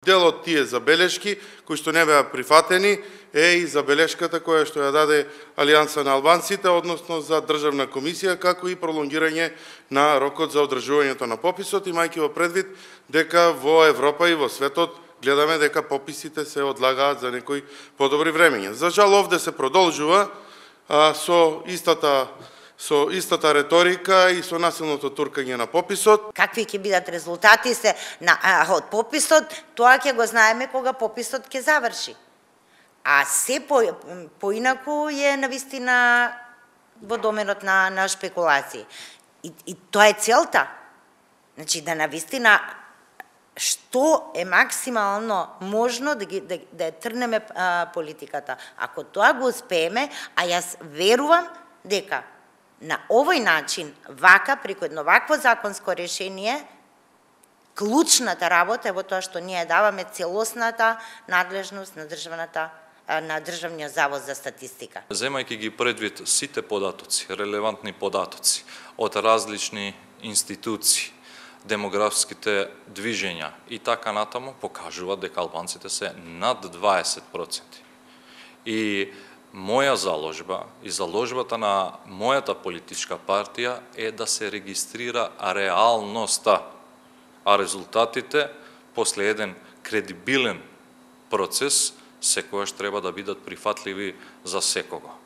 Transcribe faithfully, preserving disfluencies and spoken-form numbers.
Дел од тие забелешки, кои што не беа прифатени, е и забелешката која што ја даде Алијанса на албанците, односно за државна комисија, како и пролонгирање на рокот за одржувањето на пописот, имајќи во предвид дека во Европа и во светот гледаме дека пописите се одлагаат за некои подобри времења. За жал овде се продолжува а, со истата со истата реторика и со насилното туркање на пописот. Какви ќе бидат резултати се на а, од пописот, тоа ќе го знаеме кога пописот ќе заврши. А се по, поинаку е навистина во доменот на, на шпекулации. И, и тоа е целта. Значи да навистина што е максимално можно да, ги, да, да трнеме а, политиката. Ако тоа го успееме, а јас верувам дека на овој начин, вака, преку едно вакво законско решение, клучната работа е во тоа што ние даваме целосната надлежност на државната на Државниот завод за статистика. Земајќи ги предвид сите податоци, релевантни податоци од различни институции, демографските движења и така натаму, покажуваат дека албанците се над дваесет проценти. И моја заложба и заложбата на мојата политичка партија е да се регистрира реалноста, а резултатите после еден кредибилен процес секогаш треба да бидат прифатливи за секого.